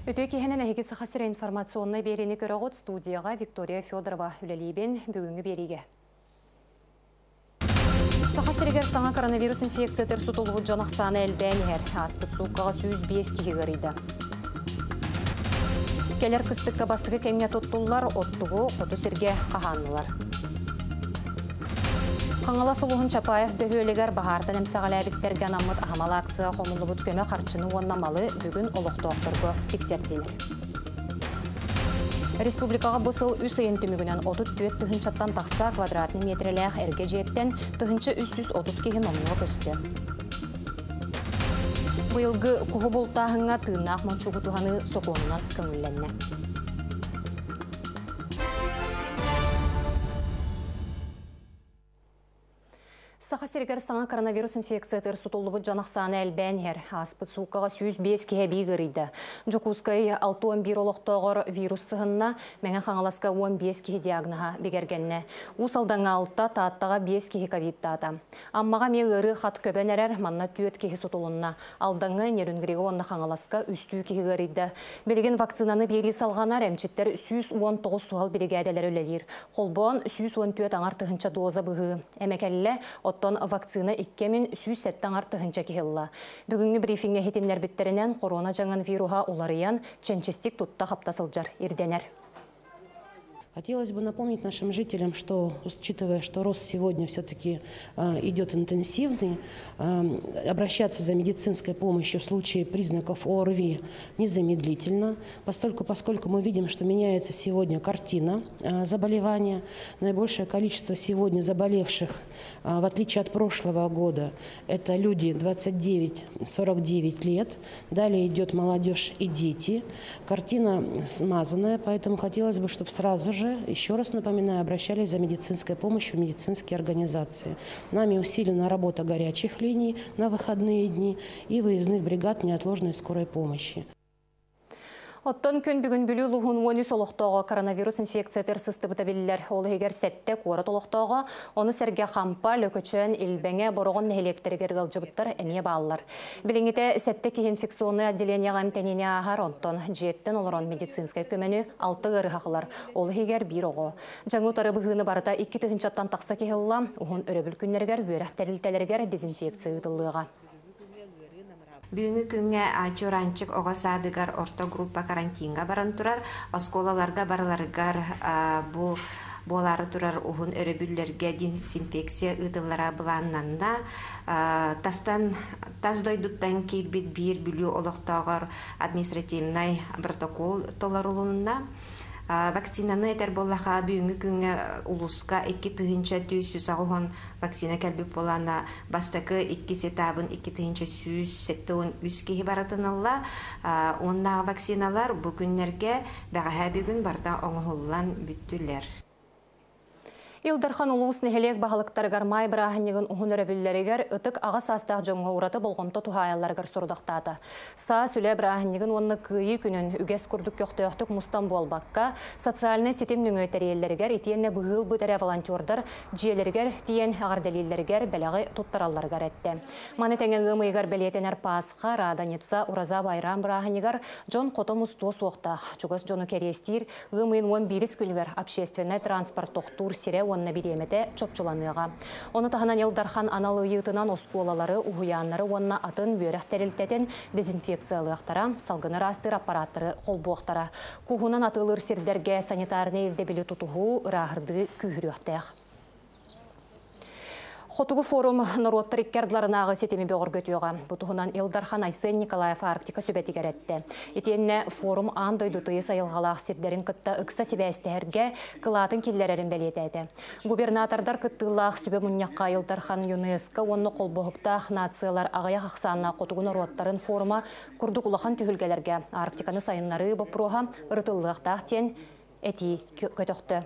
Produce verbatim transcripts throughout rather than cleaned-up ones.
Үтүө киэһэнэн, эһиги Саха сирэ информационнай биэриини көрөҕүт, студияҕа Виктория Федорова үлэлиибин. Бүгүҥҥү биэриигэ. Саха сиригэр саҥа коронавирус инфекциятыгар сутуллубут дьон ахсаана элбээн иһэр. Ааспыт сууккаҕа сүүс биэс киһи ыарыйда. Кэлэр кыстыкка бастакы кэмҥэ туттуллар оттугу хоту сиргэ хаһааннылар. Хаҥалас улууһун Чапаев бөһүөлэгэр баһаартан эмсэҕэлээбиттэргэ анаммыт аһымал акция хомуллубут көмө харчыны уонна малы бүгүн олохтоохторго тиксэрдилэр. Республикаҕа бу сыл үс ыйын түмүгүнэн отут түөрт тыһыынчаттан тахса квадратный метрэлээх эргэ дьиэттэн тыһыынча үс сүүс отут киһи номнуо көстө. Быйылгы куһу бултааһыҥҥа тыыннаах мончуугу туһаныы сокуонунан көҥүллэннэ. Саха сиригэр саҥа коронавирус инфекциятыгар сутуллубут дьон ахсаана элбээн иһэр. Ааспыт сууккаҕа сүүс биэс киһи эбии ыарыйда. Дьокуускай алта уон биир олохтооҕор вирус сыһынна, Мэҥэ Хаҥаласка уон биэс киһи диагноһа бигэргэннэ. Уус Алдаҥҥа алта, Тааттаҕа биэс киһи ковидтаата. Аммаҕа эмиэ ыарыы хат көбөн эрэр, манна түөрт киһи сутулунна. Алдаҥҥа, Нерюнгрига уонна Хаҥаласка үстүү киһи ыарыйда. Билигин вакцинаны биэрии салҕанар, эмчиттэр сүүс уон тоҕус суһал биригээдэлэр үлэлиир. Холбоон сүүс уон түөрт аҥар тыһыынча доза быһыы. Эмэкэллэ, оттон вакцина икки мин сүүс сэттэ аҥар тыһыынча киһи ылла. Бүгүҥҥү брифиҥҥэ иһитиннэрбиттэринэн корона дьаҥын вируһа уларыйан, чэнчистик тутта хапта сылдьар ирдэнэр. Хотелось бы напомнить нашим жителям, что, учитывая, что рост сегодня все-таки, э, идет интенсивный, э, обращаться за медицинской помощью в случае признаков ОРВИ незамедлительно, поскольку, поскольку мы видим, что меняется сегодня картина, э, заболевания. Наибольшее количество сегодня заболевших, э, в отличие от прошлого года, это люди двадцать девять сорок девять лет, далее идет молодежь и дети. Картина смазанная, поэтому хотелось бы, чтобы сразу же, еще раз напоминаю, обращались за медицинской помощью в медицинские организации. Нами усилена работа горячих линий на выходные дни и выездных бригад неотложной скорой помощи. Оттон күн бүгүн Бүлүү улууһун уон үс олохтооҕо коронавирус инфекциятыгар сыстыбыта биллэр. Ол иһигэр сэттэ куорат олохтооҕо, ону сэргэ Хампа, Лөкөчөөн, Илбэҥэ, Бороҕон нэһилиэктэригэр ыалдьыбыттар эмиэ бааллар. Билиҥҥитэ сэттэ киһи инфекционнай отделениеҕа эмтэниини ааһар, онтон дьиэттэн олорон медицинскэй көмөнү алта ыарыһах ылар. Ол иһигэр биир оҕо. Дьаҥы утары быһыыны барыта икки тыһыынчаттан тахса киһи ылла, уһун өрөбүл күннэригэр үөрэх тэрилтэлэригэр дезинфекция ыытыллыаҕа. Бүгүҥҥү күҥҥэ Чуранчык оҕо саадыгар орто группа карантинга баран турар, оскуолаларга барыларыгар, а, бу буолаары турар уһун өрөбүллэргэ дезинфекция ыытыллара былааннанна. А, тастан, тас дойдуттан киирбит биир Бүлүү олохтооҕор административнай протокол толорулунна. А, вакцинаны этэр буоллаха бүгүҥҥү күҥҥэ улууска икки тыһыынча түс сүүс аҕыс уон вакцина кэлбит буолана, бастакы икки этабын икки тыһыынча сүүс сэттэ уон үс киһи барытынылла. А, уонна вакциналар бу күннэргэ бэҕэһээ бүгүн барда оҥоһуллан бүттүлэр. Ил Дархан улуус нэһилиэк баһылыктарыгар маай бырааһынньыгын уһун өрөбүллэригэр ытык аҕа саастаах дьоҥҥо ураты болҕомто туһаайалларыгар сорудахтаата. Саас үлэ бырааһынньыгын уонна кыайыы күнүн үгэс курдук көхтөөхтүк мустан буолбакка, социальнай ситим нөҥүө тэрийэллэригэр итиэннэ быһыы ылбыт эрэ волонтердар дьиэлэригэр тиийэн эҕэрдэлииллэригэр бэлэҕи туттаралларыгар эттэ. Маны тэҥэ ыам ыйыгар бэлиэтэнэр Пасха, Радоница, Ураза Байрам бырааһынньыгар дьон хото мустуо суохтаах. Чугас дьону кэриэстиир ыам ыйын уон биирис күнүгэр общественнай транспорт тохтуур сирэ уонна бириэмэтэ чопчуланыаҕа. Ону таһынан Ил Дархан анал ыйыытынан оскуолалары, уһуйааннары уонна атын үөрэх тэрилтэтин дезинфекциялыахтара, салгыны ыраастыыр аппараттары холбуохтара. Кууһунан атыылыыр сирдэргэ санитарнай ирдэбили тутуһуу, ырааһырдыы күүһүрүөхтээх. Хотугу форум норуоттар икки ардыларынааҕы ситими бөҕөргөтүөҕэ. Бу туһунан Ил Дархан Айсен Николаев Арктика сүбэтигэр эттэ. Итиэннэ форум аан дойду тыйыс айылҕалаах сирдэрин кытта ыкса сибээстэһэргэ кылаатын киллэрэрин бэлиэтээтэ. Губернатордар кыттыылаах сүбэ мунньахха Ил Дархан ЮНЕСКО уонна Холбоһуктаах нациялар аҕыйах ахсааннаах хотугу норуоттарын форума курдук улахан түһүлгэлэргэ Арктиканы сайыннарыы боппуруоһа ырытыллыахтаах диэн этии көтөхтө.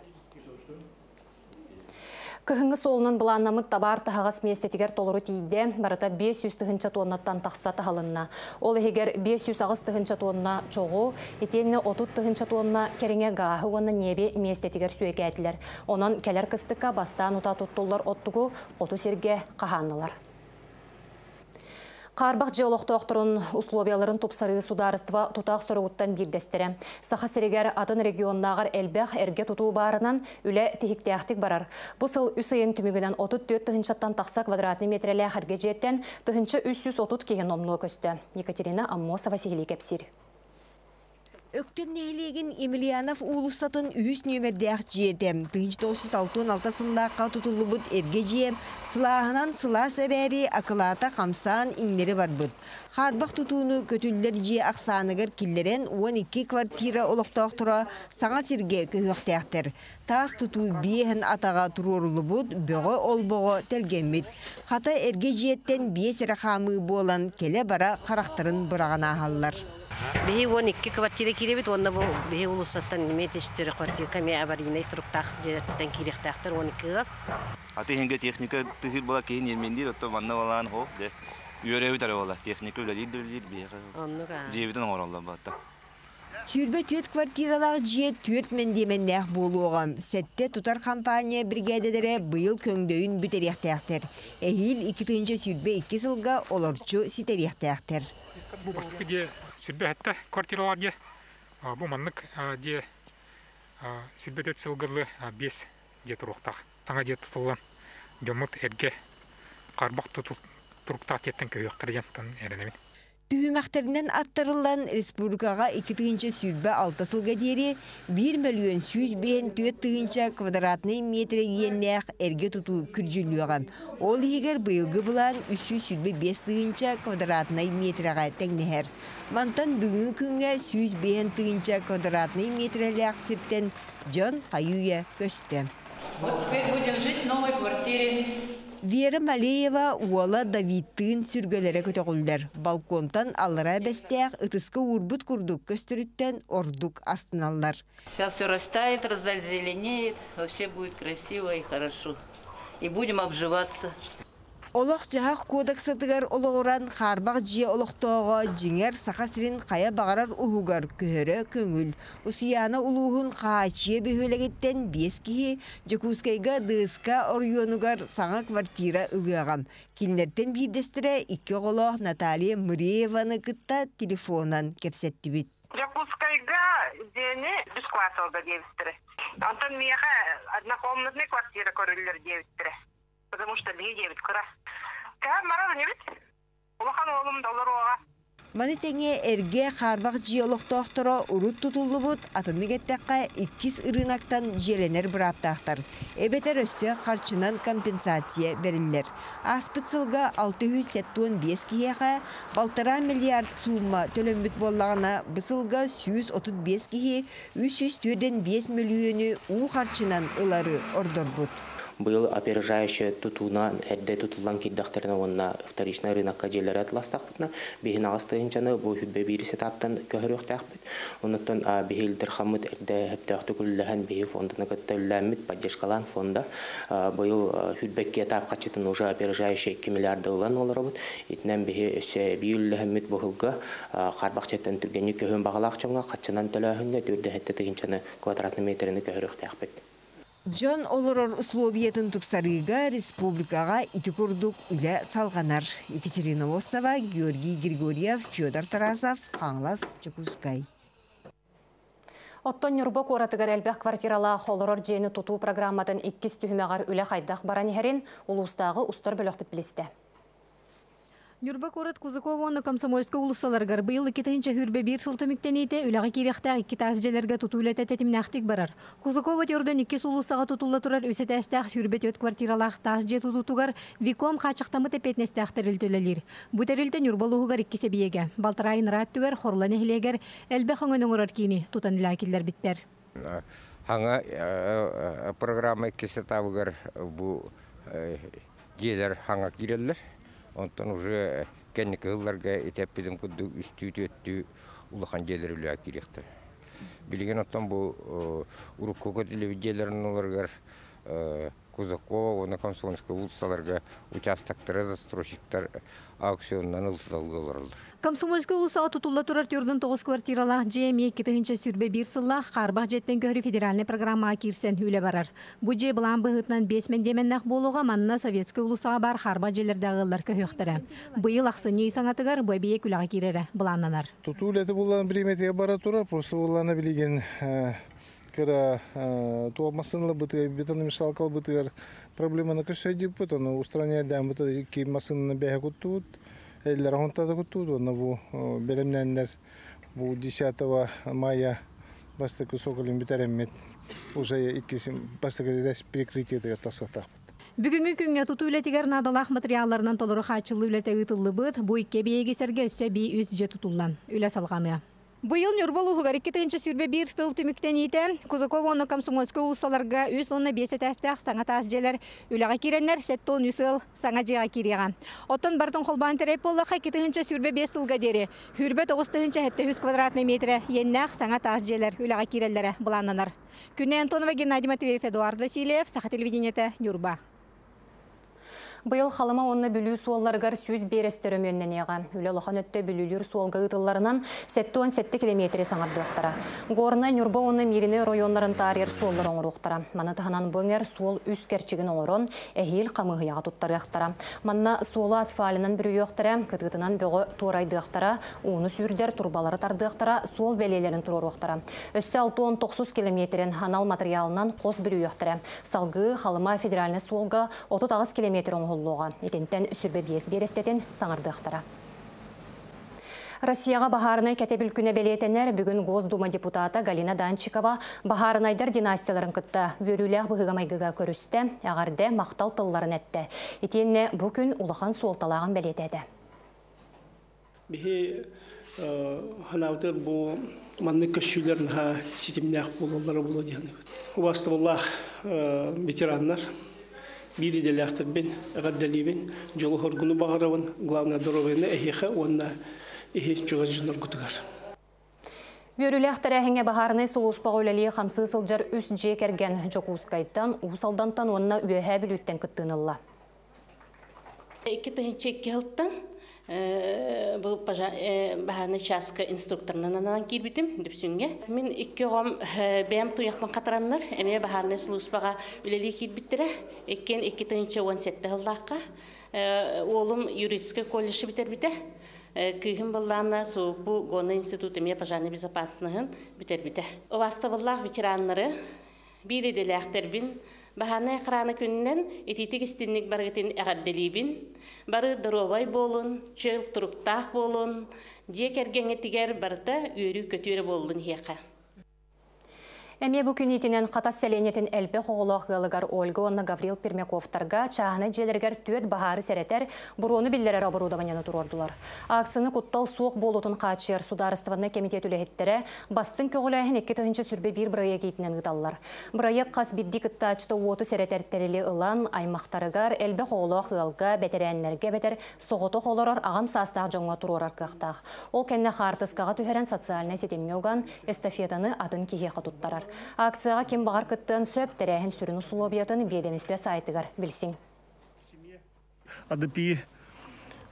Кыһыҥҥы суолунан былааннаммыт табаар таһаҕас миэстэтигэр толору тиийдэ, барыта биэс сүүс тыһыынча туоннаттан тахса таһылынна. Ол иһигэр биэс сүүс аҕыс тыһыынча туонна чоҕу, итиэннэ отут тыһыынча туонна кэриҥэ гааһы уонна ньиэби миэстэтигэр сүөкээтилэр. Онон кэлэр кыстыкка бастаан утаа туттуллар оттугу хоту сиргэ хаһааннылар. Хаарбах дьиэ олохтоохторун условияларын тупсарыы судаарыстыба тутаах соругуттан биирдэстэрэ. Саха сиригэр атын регионнааҕар элбэх эргэ тутуу баарынан үлэ тиһиктээхтик барар. Бу сыл үс ыйын түмүгүнэн отут түөрт тыһыынчаттан тахса квадратный метрэлээх эргэ дьиэттэн тыһыынча үс сүүс отут киһи номнуо көстө. Екатерина Аммосова сиһилии кэпсиир. Өктөм нэһилиэгин Емельянов уулуссатын үһүс нүөмэрдээх дьиэтэ. Тыһыынча тоҕус жүз алта уон алта сыллаахха тутуллубут эргэ дьиэ сылааһынан сылаас эрээри акылаата хамсаан иҥнэри барбыт. Хаарбах тутууну көтүллэр дьиэ ахсааныгар киллэрэн уон икки квартира олохтоохторо саҥа сиргэ көһүөхтээхтэр. Таас тутуу биэһин атаҕа туруоруллубут, бөҕө олбоҕо тэлгэммит. Хата эргэ дьиэттэн биэс эрэ хаамыы буолан кэлэ-бара харахтарын быраҕан ааһаллар. Биһи уон икки квартира киирэбит, уонна бу биһи уулуссаттан эмиэ четыре квартира эмиэ аварийнай туруктаах дьиэлэртэн киириэхтээхтэр уон икки ыал. Аты иһингэ техника тыһыр була киһин ермендир, отто манна балаан хо, де үөрөбүт эрэ була, техника үлэлиир да үлэлиир биһиэхэ. Оннук аа. Дьиэбитин оҥороллор баатта. Сүүрбэ түөрт квартиралаах дьиэ түөрт мэндиэмэннээх буолуоҕа. Сэттэ тутар компания бригадалара быйыл көҥдөйүн бүтэриэхтээхтэр. Эһиил икки тыһыынча сүүрбэ икки сылга олорчу ситэриэхтээхтэр. Бу бастакы дьиэ сүүрбэ сэттэ квартиралаах дьиэ. Бу маннык дьиэ сүүрбэ түөрт сылгылы биэс дьиэ туруохтаах. Саҥа дьиэ тутуллан дьоммут эргэ хаарбах туруктаах дьиэттэн көһүөхтэрэ диэн эрэнэбин. Түһүмэхтэринэн аттарыллан республикаҕа икки тыһыынча сүүрбэ алта сылга диэри биир мөлүйүөн сүүс биэһин түөрт тыһыынча квадратный метр иэннээх эргэ тутуу күрдьүллүөҕэ. Ол иһигэр быйылгы былаан үс сүүс сүүрбэ биэс тыһыынча квадратный метрэҕэ тэҥнэһэр. Мантан бүгүҥҥү күҥҥэ сүүс биэһин тыһыынча квадратный метрэлээх сиртэн дьон хайыыйа көстө. Вот теперь будем жить в новой квартире. Вера Малеева уола Давидтыын сүргэлэрэ көтөҕүллэр. Балконтан аллара бэстээх ытыска уурбут курдук көстөрүттэн ордук астыналлар. Сейчас все растает, раззеленеет, вообще будет красиво и хорошо. И будем обживаться. Олох дьаһах кодексатыгар олоҕуран хаарбах дьиэ олохтооҕо дьиҥэр Саха сирин хайа баҕарар уһугар көһөрө көҥүл. Усуйаана улууһун Хаачыйа бөһүөлэгиттэн биэс киһи Дьокуускайга Дыска оройуонугар саҥа квартира ылыаҕа. Кинилэртэн биирдэстэрэ икки оҕолоох Наталья Мырееваны кытта телефонан кэпсэттибит. Дьокуускайга дьиэни үс кварталга диэбиттэрэ. Онтон миэхэ однокомнатная квартира көрүллэр диэбиттэрэ. Потому что биһиги дьиэбит кыра. Кэһэн барар инибит. Улахан уолум доллар уоҕа. Маны тэҥэ эргэ хаарбах дьиэ олохтоохторо урут тутуллубут атыннык эттэххэ иккис ырыынактан дьиэлэнэр бырааптаахтар. Эбэтэр өссө харчынан компенсация бэриллэр. Ааспыт сылга алта жүз сэттэ уон биэс киһиэхэ балтараа миллиард сумма төлөммүт буоллаҕына, бу сылга сүүс отут биэс киһи үс жүз түөртэн биэс мөлүйүөнү уу харчынан ылары ордорбут. Быйыл опережающая тутууна эрдэ тутуллан киирдэхтэринэ уонна вторичный рынокка дьиэлэри атыластахпытына, биһин аҕыс тыһыынчаны бу хүббэ биир этаптан көһөрүөхтээхпит. Оннуттан, а, биһи Илдерхаммыт эрдэ хөптөөхтүк үллэһэн, биһи фонданы кытта үллээммит, поддержкалаан фонда. А, быйыл, а, хүббэкки этап хаччытын уже опережающая икки миллиарда ылан олоробут. Итинэн биһи өссө бии үллэһэммит быһылга, а, харбахчаттан түргэнник көһөн бағалаах чоҥҥа хаччынан төлөөһүҥҥэ түрдэ хэттэ тыһыынчаны квадратный метрини көһөрүөхтээхпит. Дьон олорор условиятын тупсарыыга республикаҕа ити курдук үлэ салҕанар. Екатерина Лосова, Георгий Григорьев, Федор Тарасов, Хаҥалас, Дьокуускай. Оттон Ньурба куоратыгар элбэх квартиралаах олорор дьиэни тутуу программатын иккис түһүмэҕэр үлэ хайдах баран иһэрин улуустааҕы устар бөлөхпүт билистэ. Ньурба куорат Кузакова уонна Комсомольскай уулуссаларыгар быйыл икки тыһыынча сүүрбэ биир сыл түмүктэниитэ үлэҕэ киириэхтээх икки таас дьиэлэргэ тутуу үлэтэ тэтимнээхтик барар. Кузакова төрдөн иккис уулуссаҕа тутулла турар үс этээстээх сүүрбэ түөрт квартиралаах таас дьиэ тутуутугар Виком хааччахтаммыт эппиэтинэстээх тэрилтэ үлэлиир. Бу тэрилтэ Ньурба улууһугар икки сэбиэгэ, Балтарайын ыраат түгэр Хорула нэһилиэгэр элбэх өҥөнү оҥорор киини тутан үлэҕэ киллэрбиттэр. Хаҥа, э, э, программа иккис этабыгар бу, э, дьиэлэр хаҥа киирэллэр. Онтон уже кэнники ылларга итеппидим курдук үстүү түөттүү улахан дьиэлэр үлэҕэ киириэхтэр. Билигин оттон бу, э, урукку көтүлүбүт дьиэлэрин олоргар, э, Кузакова, уонна Комсомольская уулуссаларга участоктары застройщиктар аукционунан ылталга олороллор. Комсомольская уулуссаҕа тутулла турар түөрт уон тоҕус квартиралаах дьиэ эмиэ икки тыһыынча сүүрбэ биир сыллаах хаарбах дьиэттэн көһөрүү федеральнай программаҕа киирсэн үлэ барар. Бу дьиэ былаан быһыытынан биэс мэндиэмэннээх буолуоҕа, манна Советскай уулуссаҕа баар хаарбах дьиэлэрдээх ыаллар көһүөхтэрэ. Быйыл ахсынньы ый саҥатыгар бу эбийиэк үлэҕэ киирэрэ былааннанар. Тутуу үлэтэ буллан бириэмэтигэр бара турар, просто буллана билигин кыра туох массыыналар бытыгар, бетономешалкалар бытыгар проблеманы көрсөйдүппүт, ону устраниядаан бут икки массыынаны бэһэ куттубут, эллэр хонтада куттубут, онно бу белемнәннер бу десятого мая бастакы соколин бүтэреммит, уже иккисин бастакы перекрытие тасатахпыт. Бүгүҥҥү күҥҥэ тутуу үлэтигэр наадалаах материалларынан толору хааччыллыы үлэтэ ыытыллыбыт, бу икки эбийиэги сэргэ өссө эбии үс дьиэ тутуллан үлэ салҕаныа. Быйыл Ньурба улууһугар икки тыһыынча сүүрбэ биир сыл түмүктэниитэ Кузакова уонна Комсомольскай уулуссаларга үс уонна биэс этээстээх саҥа таас дьиэлэр үлэҕэ киирэннэр сэттэ уон үс ыал саҥа дьиэҕэ киириэҕэ. Оттон барытын холбоон тэрэй буоллахха икки тыһыынча сүүрбэ биэс сылга диэри сүүрбэ тоҕус тыһыынча сэттэ сүүс квадратнай метрэ иэннээх саҥа таас дьиэлэр үлэҕэ киирэллэрэ былааннанар. Күнэ Антонова, Геннадий Матвеев, Эдуард Васильев, Саха телевидениетэ, Ньурба. Быйыл Халыма уонна Бүлүү суолларыгар сүүс биэрэстэ өрөмүөннэниэҕэ. Үлэ улахан өттө Бүлүүлүүр суолга ыытылларынан сэттэ уон сэттэ километри саҥардыахтара. Горнай, Ньурба уонна Мииринэй оройуоннарын таарыйар суоллар оҥоруохтара. Маны таһынан бу эҥэр суол үс кэрчигин оҥорон, эһиил хамыыһыйаҕа туттарыахтара. Манна суолу асфальынан бүрүйүөхтэрэ, кытыытынан бөҕө туорайдыахтара, ууну сүүрдэр турбалары тардыахтара, суол бэлиэлэрин туруоруохтара. Өссө алта уон тоҕус километрин анал материалынан хос бүрүйүөхтэрэ. Салгыы Халыма федеральнай суолга отут аҕыс километр оҥоһуллуоҕа. Итинтэн сүрбэ биэс биэрэстэтин саҥардыахтара. Россияҕа баһаарынай кэтэбил күнэ бэлиэтэнэр. Бүгүн Госдума депутата Галина Данчикова баһаарынайдар династияларын кытта үөрүүлээх быһыыга-майгыга көрүстэ, эҕэрдэ махтал тылларын эттэ. Итиэннэ бу күн улахан суолталааҕын бэлиэтээтэ. Биһи ханаабытыгар бу маннык көссүүлэр наһаа ситимнээх буолаллара буолуо диэн. Убаастабыллаах ветераннар, биир идэлээхтэрбин, эҕэрдэлиибин, дьолу хоргуну баҕарабын, главное здоровьены эһиэхэ уонна иһи чугас дьонноргутугар. Үөрүүлээх тэрээһиҥҥэ баһаарынай сулууспаҕа үлэлии хамсыы сылдьар үс дьиэ кэргэн Дьокуускайтан, Уус Алдантан уонна Үөһээ Бүлүүттэн кыттыынылла. Икки тыһыынча икки сылтан бу баһаарынай чааска инструкторынан ананан киирбитим Дүпсүҥҥэ. Мин икки оҕом бэйэм туйахпын хатараннар, эмиэ баһаарынай сулууспаҕа үлэлии киирбиттэрэ. Иккиэн икки тыһыынча уон сэттэ сыллаахха. Уолум юридическай колледж бүтэрбитэ. Кыыһым быллаана СУПУ Горный институт эмиэ пожарной безопасностын бүтэрбитэ. Убаастабыллаах ветераннары, биир идэлээхтэрбин, баһаарынай охрана күнүнэн итиитик истинник барыгытын эҕэрдэлиибин. Бары доруобай буолун, чөл туруктаах буолун, дьиэ кэргэҥҥитигэр барыта үөрүү көтүөрэ буоллун иһиэхэ. Эмиэ бу күн итинэн Хатас сэлиэнньэтин элбэх оҕолоох ыалыгар Ольга уонна Гаврил Пермяковтарга чааһынай дьиэлэригэр түөрт баһаары сэрэтэр, буруону биллэрэр оборудованиены туруордулар. Акцияны куттал суох буолуутун хааччыйар судаарыстыбаннай кэмитиэт үлэһиттэрэ бастыҥ көҕүлээһин икки тыһыынча сүүрбэ биир бырайыак иитинэн ыыталлар. Бырайыак хас биирдии кыттааччыта уоту сэрэтэр тэрили ылан, аймахтарыгар, элбэх оҕолоох ыалга, бэтэрээннэргэ эбэтэр соҕотох олорор аҕам саастаах дьоҥҥо туруорар кыахтаах. Ол кэннэ хаартыскаҕа түһэрэн социальнай ситимҥэ уган эстафетаны атын киһиэхэ туттарар. Акцияҕа ким баҕар кыттыан сөп, тэрээһин сүрүн усулуобуйатын биэдэмистибэ сайтыгар билсиҥ. АДП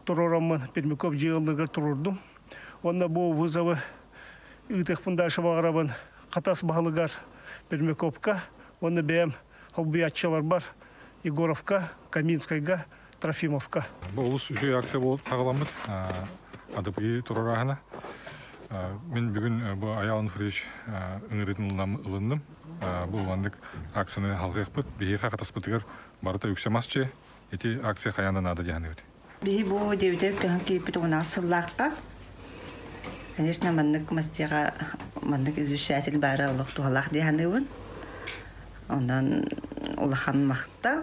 туруораммын Пермяков дьиэ турурдум. Онно бу вызовы ыытыахпын дальше баҕарабын Хатас баһылыгар Пермяковка, онно бэйэм холбуйааччылар бар Егоровка, Каминскайга, Трофимовка. Бу олус үчүгэй акция буолуп хаҕаламмыт АДП туруораһына. Мин бүгүн бу Айаал Ануфриевич ыҥырыытын ылынным. Бу маннык акцияны халгыахпыт. Биһиэхэ Хатаспытыгар барыта үксэ масчы. Ити акция хайаан да наада диэханыбыт. Биһи бу дьиэбитигэр көһөн киирбит уон сыллаахха. Конечно, маннык мастига маннык извещатель баара олох туһалаах диэханыбын. Онон улахан махтал.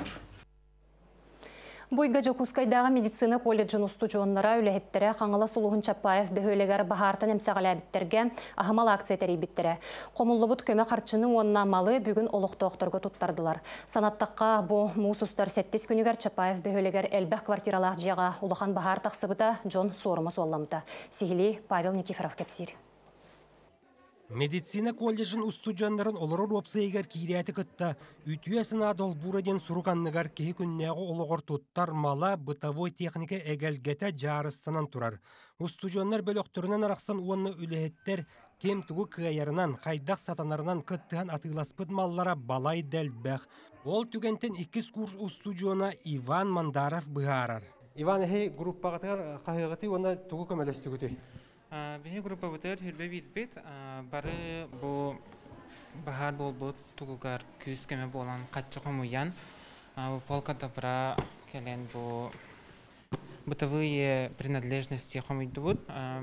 Буйга Дьокуускайдааҕы медицина колледжын устудьуоннара үлэһиттэрэ Хаҥалас улууһун Чапаев бөһүөлэгэр баһаартан эмсэҕэлээбиттэргэ аһымал акция тэрийбиттэрэ. Хомуллубут көмө харчыны уонна малы бүгүн олохтоохторго туттардылар. Санаттахха бу муус устар сэттис күнүгэр Чапаев бөһүөлэгэр элбэх квартиралаах дьиэҕэ улахан баһаар тахсыбыта, дьон суорума суолламмыта. Сиһилии Павел Никифоров кэпсиир. Медицина колледжын устудьуоннарын олорор уопсайыгар киирээти кытта үтүө санаа долбуура диэн сурук анныгар киһи күннээҕи олоҕор туттар мала, бытовой техника эгэлгэтэ дьаарыстанан турар. Устудьуоннар бөлөхтөрүнэн арахсан уонна үлэһиттэр ким тугу кыайарынан, хайдах сатанарынан кыттыһан атыыласпыт маллара балай да элбэх. Ол түгэнтэн иккис курс устудьуона Иван Мандаров быһаарар. Иван, эһи группаҕытыгар хаһыаҕытый уонна тугу көмөлөстүгүтүй? Биһи группабытыгар хүрбэ биирбит, бары бу баһаар буолбут тугугар күүс көмө буолан хаччы хомуйан, полка добра кэлэн бу бытовые принадлежности хомуйдубут,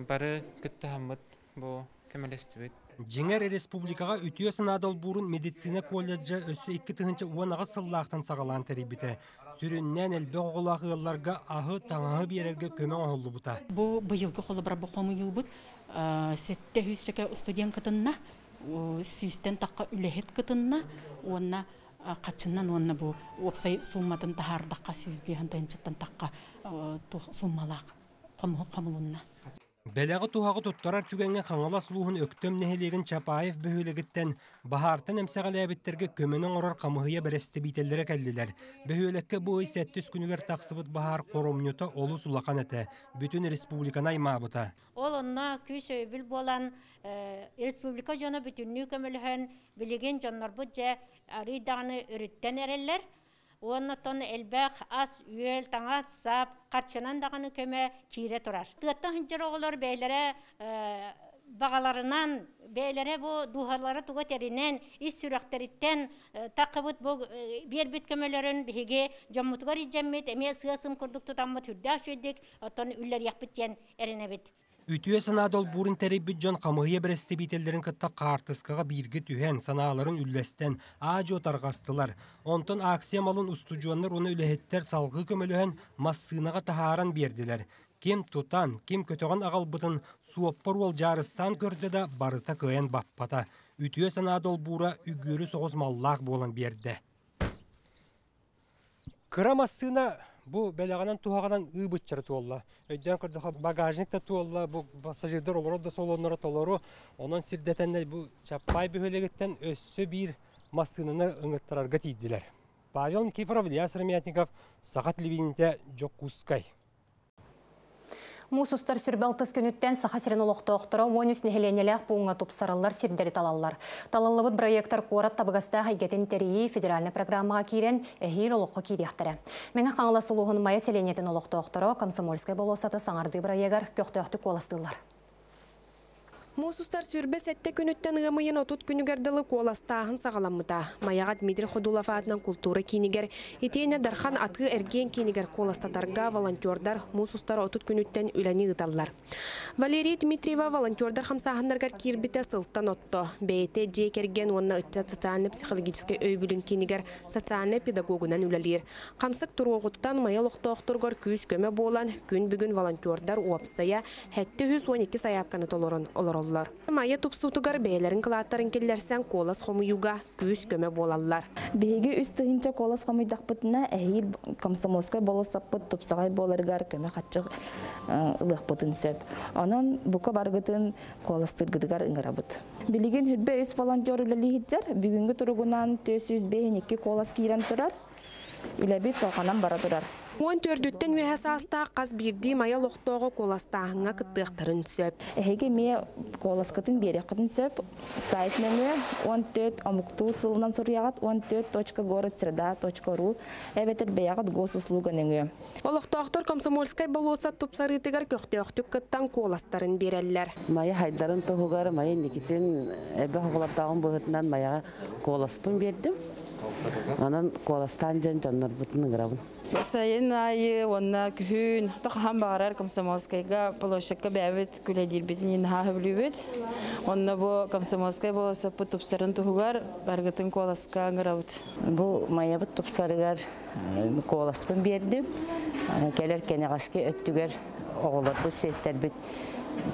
бары кыттыһаммыт бу көмөлөстүбүт. Дьиҥэр республикаҕа үтүө санаа долбуурун медицина колледжа өссө икки тыһыынча уон аҕыс сыллаахтан саҕалаан тэрийбитэ. Сүрүннээн элбэх оҕолоох ыалларга аһы, таҥаһы биэрэргэ көмө оҥоһуллубута. Бу быйылгы холобура бу хомуйуубут сэттэ сүүс чэкэ студент кытынна, сүүстэн тахха үлэһит кытынна, уонна хаччынан уонна бу уопсай сумматын таһаардахха сүүс биэһэн тыһыынчаттан тахха суммалаах хомулунна. Бэлэҕи туһаҕы туттарар түгэҥҥэ Хаҥалас улууһун Өктөм нэһилиэгин Чапаев бөһүөлэгиттэн баһаартан эмсэҕэлээбиттэргэ көмөнү оҥорор хамыыһыйа бэрэстэбиитэллэрэ кэллилэр. Бөһүөлэккэ бу ый сэттис күнүгэр тахсыбыт баһаар хоромньута олус улахан этэ. Бүтүн республиканы аймаабыта. Ол онно күүс өйөбүл буолан республика дьоно бүтүннүү көмөлөһөн билигин дьоннорбут дьэ арыйдаҕаны өрүттэн эрэллэр. Уоннаттан элбэх ас, үөл, таҥас, сап, харчынан даҕаны көмө киирэ турар. Тыаттан сылдьар оҕолор бэйэлэрэ баҕаларынан, бэйэлэрэ бу дууһалара туга тэринэн, ис сүрэхтэриттэн таххыбыт бу биэрбит көмөлөрүн биһиги дьоммутугар илдьэммит, эмиэ сыа-сым курдук тутаммыт үрдээх үчүгэйдик, оттон үллэриэхпит диэн эрэнэбит. Үтүө санаа долбуурун тэрийбит дьон хамыыһыйа бэрэстэбиитэллэрин кытта хаартыскаҕа бииргэ түһэн, санааларын үллэстэн, аа-дьуо тарҕастылар. Онтон акция малын устудьуоннар уонна үлэһиттэр салгыы көмөлөһөн массыынаҕа таһааран биэрдилэр. Ким тутан, ким көтөҕөн аҕалбытын суоппар уол дьаарыстаан көрдө да барыта кыайан баппата. Үтүө санаа долбуура үгүөрү соҕус маллаах буолан биэрдэ. Кыра массыына бу бэлэҕинэн туһаҕынан ыыбытчары туолла. Өйдөөн көрдөхө багажник да туолла, бу пассажирдар олорор да салоннара толору. Онон сирдэтэннэ бу Чаппай бөһүөлэгиттэн өссө биир массыынаны ыҥыттарарга тиийдилэр. Павел Никифоров, Илья Сыромятников, Саха телевидениетэ, Дьокуускай. Муус устар сүрбэ алтыс күнүттэн Саха сирин олохтоохторо уон үс нэһилиэнньэлээх пууҥҥа тупсарыллар сирдэри талаллар. Талыллыбыт проектар куорат табыгастаах эйгэтин тэрийии федеральнай программаҕа киирэн эһиил олоххо киириэхтэрэ. Мэҥэ Хаҥалас улууһун Майа сэлиэнньэтин олохтоохторо Комсомольскай болуоссаты саҥардыы бырайыагар көхтөөхтүк куоластыыллар. Муус устар сүрбэ сэттэ күнүттэн ыам ыйын отут күнүгэр дылы куоластааһын саҕаламмыта. Майаҕа Дмитрий Ходулов аатынан култуура киинигэр, итиэннэ Дархан атыы эргиэн киинигэр куоластатарга волонтердар муус устар отут күнүттэн үлэни ыыталлар. Валерий Дмитриева волонтердар хамсааһыннарыгар киирбитэ сылтан отто. Бэйэтэ дьиэ кэргэн уонна ыччат социально-психологическай өйөбүлүн киинигэр социальнай педагогунан үлэлиир. Хамсык туруоҕуттан Майа олохтоохторугар күүс көмө буолан, күн бүгүн волонтердар уопсайа сэттэ сүүс уон икки сайаапканы толорон олороллор. Майа тупсуутугар бэйэлэрин кылааттарын киллэрсэн куолас хомуйууга күүс көмө буолаллар. Биһиги үс тыһыынча куолас хомуйдахпытына эһиил Комсомольскай болуоссаппыт тупсаҕай буоларыгар көмө хаччы ылыахпытын сөп. Онон бука баргытын куоластыргытыгар ыҥырабыт. Билигин хүрбэ үс волонтер үлэлииһиттэр. Бүгүҥҥү туругунан түөрт сүүс биэс икки куолас киирэн турар. Үлэбит салҕанан бара турар. Уон төрдүттэн үөһэ саастаах хас биирдии Майа олохтооҕо куоластааһыҥҥа кыттыахтарын сөп. Эһиги эмиэ куоласкытын биэриэххитин сөп. Сайт нөҥүө уон төрт омуктуу тылынан суруйаҕыт уон төрт точка город среда точка ру эбэтэр бэйэҕит госуслуга нөҥүө. Олохтоохтор Комсомольскай болуоссат тупсарыытыгар көхтөөхтүк кыттан куоластарын биэрэллэр. Майа хайдарын туһугар Майа Никитин элбэх оҕолордооҕун быһыытынан Майаҕа куоласпын биэрдим. Онон куоластаан дьон дьоннорбутун ыҥырабын. Сайын айы, онна күһүн, тохахан бағарар Комсомольскайга площадка бәбит күләдирбитин инха хөблүбүт. Онна бу Комсомольскай болосаппыт тупсарын туһугар баргытын куоласка ыҥырабыт. Бу Майабыт тупсарыгар куоласпын бердим. Келер кенегаски өттүгер оҕолорбут сеттербит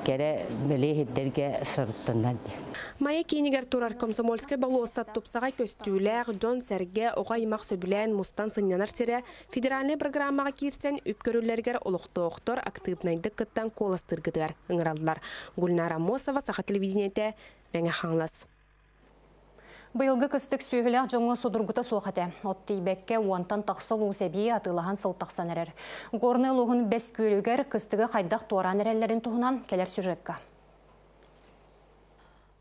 Кэрэ бэлиэ сирдэргэ сырыттыннар диэн. Майа киинигэр турар Комсомольскай болуоссат тупсаҕай көстүүлээх, дьон-сэргэ, оҕо-аймах сөбүлээн мустан сынньанар сирэ федеральнай программаҕа киирсэн үп көрүллэригэр олохтоохтор актыыбынайдык кыттан куоластыыргытыгар ыҥыраллар. Гульнара Аммосова, Саха телевидениетэ, Мэҥэ Хаҥалас. Быйылгы кыстык сүөһүлээх дьоҥҥо судургута суох этэ. От тиийбэккэ уонтан тахса улуус эбии атыылаһан сыл тахсан эрэр. Горнай улууһун Бэс Күөлүгэр кыстыгы хайдах туораан эрэллэрин туһунан кэлэр сюжекка.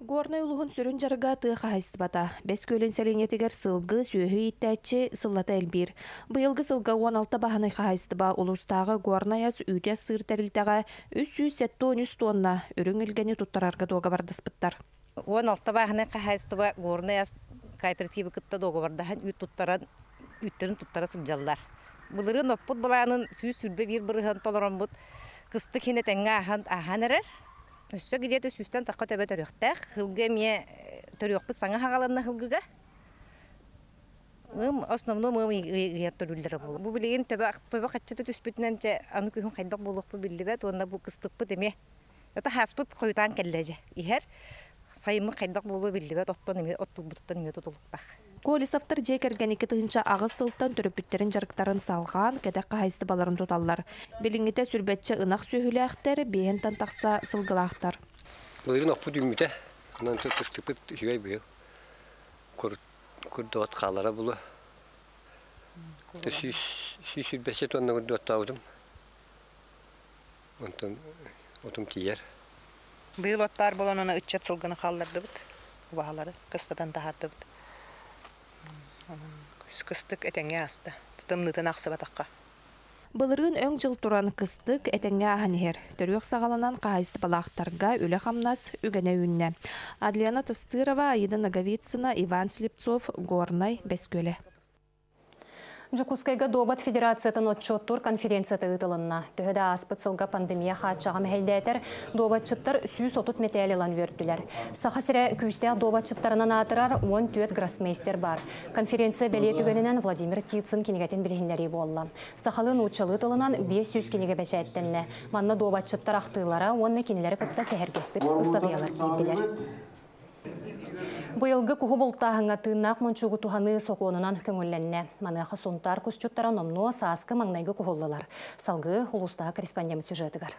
Горнай улууһун сүрүн дьарыга тыа хаһаайыстыбата. Бэс Күөлүн сэлиэнньэтигэр сылгы, сүөһү ииттээччи сыллата элбиир. Быйылгы сылга уон алта бааһынай хаһаайыстыба улуустааҕы Горнай ас үүтэ астыыр тэрилтэҕэ үс сүүс сэттэ уон үс туонна үрүҥ илгэни туттарарга дуогабардаспыттар. Уон алта бааһынай хаһаайыстыба Горнай ас кооперативы кытта дуогабардаһан үүт туттаран үүттэрин туттара сылдьаллар. Былырыын оппут былаанын сүүс сүүрбэ биир бырыһыан толороммут кыстык иһинэ тэҥҥэ ааһан ааһан эрэр. Өссө где-то сүүстэн тахха төбө төрүөхтээх. Сылгы эмиэ төрүөхпүт саҥа хаҕаланна сылгыга. Ым основном ым ыйар төрүүллэрэ буолар. Бу билигин төбө төбө хаччыта түспүтүнэн чэ аны күһүн хайдах буолуохпут биллибэт уонна бу кыстыкпыт эмиэ это хааспыт хойутаан кэллэ дьэ иһэр. Сайыммыт хайдах буолуо биллибэт оттон эмиэ оттулбутуттан эмиэ тутулуктаах. Колесовтар дьиэ кэргэн икки тыһыынча аҕыс сылтан төрөппүттэрин дьарыктарын салҕаан, кэтэх хаһаайыстыбаларын туталлар. Билиҥҥитэ сүрбэччэ ынах сүөһүлээхтэр, биэһинтэн тахса сылгылаахтар. Былырыын оппут үүммүтэ, онон кыстыкпыт үчүгэй быйыл. Курдуот хаалара булу. Сүүс сүүрбэччэ тонна курдуоттаабытым. Онтон отум тиийэр. Быйыл от баар буолан оны ыччат сылгыны хааллардыбыт, убаһалары кыстатан таһаардыбыт. Кыстык этэҥҥэ ааста, тымныытын ахсыбатахха. Былырыын өҥ дьыл туран кыстык этэҥҥэ ааһан иһэр. Төрүөх саҕаланан хаһаайыстыбалаахтарга үлэ-хамнас үгэнэ үүннэ. Адлена Тастырова, Аида Наговицына, Иван Слепцов, Горнай, Бэс Күөлэ. Дьокуускайга Дуобат федерациятын отчуоттуур конференцията ыытылынна. Төһө да ааспыт сылга пандемия хааччаҕа мэһэйдээтэр, дуобатчыттар сүүс отут мэтээл ылан үөрдүлэр. Саха сирэ күүстээх дуобатчыттарынан аатырар уон түөрт гроссмейстер бар. Конференция бэлиэ түгэнинэн Владимир Птицын кинигэтин билиһиннэрии буолла. Сахалыы нууччалыы тылынан биэс сүүс кинигэ бэчээттэннэ. Манна дуобатчыттар ахтыылара уонна кинилэри кытта сэһэргэспит ыстатыйалар киирдилэр. Быйылгы куһу бултааһыҥҥа тыыннаах мончуугу туһаныы сокуонунан көҥүллэннэ. Маныаха Сунтаар кусчуттара номнуо сааскы маҥнайгы куһуллулар. Салгыы улуустааҕы корреспондент сюжетыгар.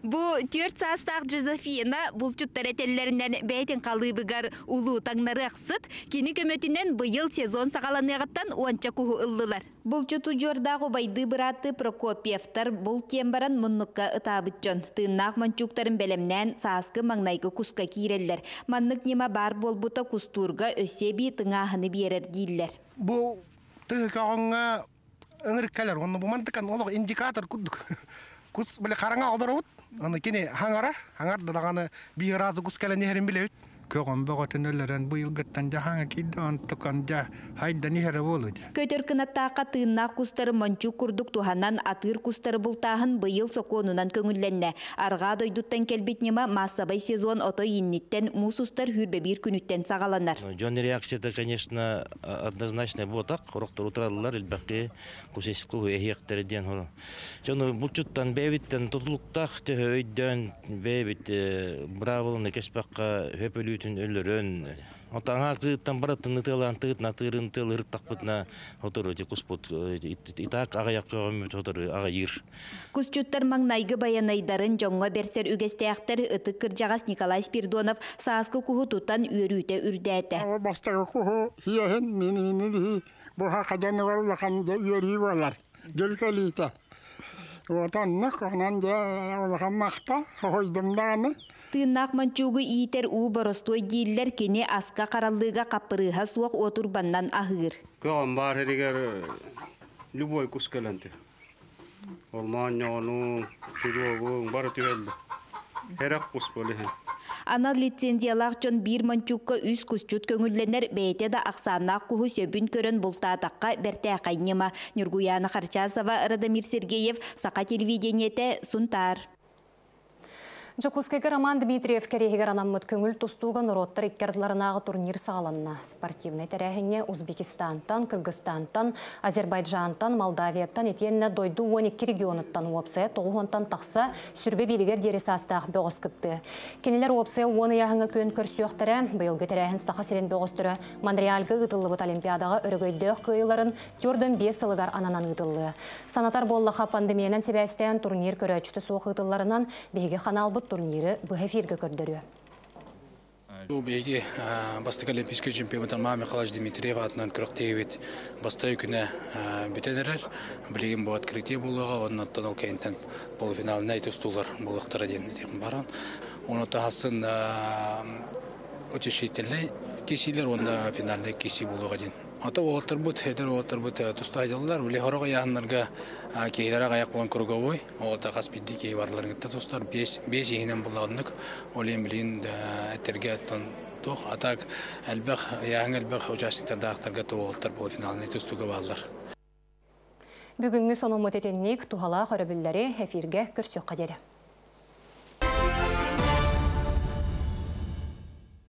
Бу түөрт саастаах Жозефина булчуттар этэллэринэн бэйэтин халыыбыгар улуу таҥнарыахсыт, кини көмөтүнэн быйыл сезон саҕаланыаҕыттан уонча куһу ыллылар. Булчуту дьуордаах убайды быраатты Прокопьевтар бул тиэн баран муннукка ытаабыт дьон. Тыыннаах мончууктарын бэлэмнээн сааскы маҥнайгы куска киирэллэр. Маннык ньыма баар буолбута кустуурга өссө эбии тыҥааһыны биэрэр дииллэр. Бу тыһыкаҕыҥҥа ыҥырык кэлэр, онно бу мантыкан олох индикатор курдук. Кус биле хараҥа олоробут. Аны кини хаҥарар, хаҥар да даҕаны биир разы кус кэлэн иһэрин билэбит. Көҕөн бөҕөтүн өлөрөн быйылгыттан дьаһаҥа киирдэ, онтукан дьа хайдан иһэрэ буолу дьэ. Көтөр кынаттаахха тыыннаах кустары мончук курдук туһанан атыыр кустары бултааһын быйыл сокуонунан көҥүллэннэ. Арҕаа дойдуттан кэлбит ньыма маассабай сезон отой инниттэн муус устар хүүрбэ биир күнүттэн саҕаланар. Дьон реакцията, конечно, однозначно буотах, хорохтор утараллар, элбэххи кус эһиэхтэрэ диэн хоро. Дьону булчуттан бэйэбиттэн тутулуктаах төһө өйдөөн бэйэбит быраабыланы кэспэххэ хөпөлүүтүн өлөрөн. Отаҥа тыыттан баратын ытыалаан тыытна тыырын тыал ырыттахпытына хотору ти куспут итак аҕыйах көҕөммүт хотору аҕыйыыр. Кусчуттар маҥнайгы баянайдарын дьоҥҥо бэрсэр үгэстээхтэр ытык кырдьаҕас Николай Спиридонов сааскы куһу тутан үөрүүтэ үрдээтэ. Бастакы куһу хиэһин мини-мини буха хадьаныгар улахан үөрүү буолар. Дьыл кэлиитэ. Отоннук онон дьэ улахан махта хоһуйдум даҕаны. Тыыннаах мончуугу иитэр уу боростуой дииллэр кини аска хараллыыга хаппырыыһа суох уотурбаннан аһыыр. Көҕөн баар эригэр любой кус кэлэнти. Ормаан сүрүөгүн бары түһэллэ. Хэрэх кус болиһин. Анал лицензиялаах дьон биир мончуукка үс кусчут көҥүллэнэр бэйэтэ да ахсааннаах куһу сөбүн көрөн бултаатахха бэртээхэй ньыма. Ньургуяна Харчасова, Радомир Сергеев, Саха телевидениетэ, Сунтаар. Жокускайга Роман Дмитриев кэриэһигэр анаммыт көҥүл тустууга норуоттар икки турнир саҕаланна. Спортивнай тэрээһиҥҥэ Узбекистантан, Кыргызстантан, Азербайджантан, Молдавияттан итиэннэ дойду уон икки регионуттан уопсайа тоҕус уонтан тахса сүүрбэ бииригэр диэри саастаах бөҕөс кыттыа. Кинилэр уопсайа уон ыйааһыҥҥа күөн көрсүөхтэрэ. Быйылгы тэрээһин Саха сирин бөҕөстөрө Монреальга ыытыллыбыт Олимпиадаҕа өрөгөйдөөх кыайыыларын түөрт уон биэс сылыгар ананан ыытыллыа. Санатар буоллахха, пандемиянан сибээстээн турнир көрөөччүтэ суох ыытылларынан, биһиги ханаалбыт турниры быһа эфиргэ көрдөрүө. Бу биһиги бастакы олимпийский чемпион Роман Михайлович Дмитриев аатынан күрэхтэһиибит бастакы күнэ бүтэн эрэр. Билигин бу открытие буолуоҕа, оннуттан ол кэнниттэн полуфиналнай тустуулар буолуохтара диэн этиэхпин баҕарабын. Ону таһасын утешительный киирсиилэр уонна финальный киирсии буолуоҕа диэн. Ата уолаттарбыт, эдэр уолаттарбыт туста сылдьаллар. Били сорох ыйааһыннарга киһилэрэ аҕыйах буолан круговой. Ол хас биирдии киһи барыларын кытта тустар. Биэс, биэс иһинэн буоллаҕыннык. Ол иһин билигин этэргэ туох а так элбэх ыйааһын элбэх участниктардаахтарга уолаттар полуфиналнай тустууга бааллар. Бүгүҥҥү сонуммут итинник. Туһалаах өрөбүллэри, эфиргэ көрсүөххэ диэри.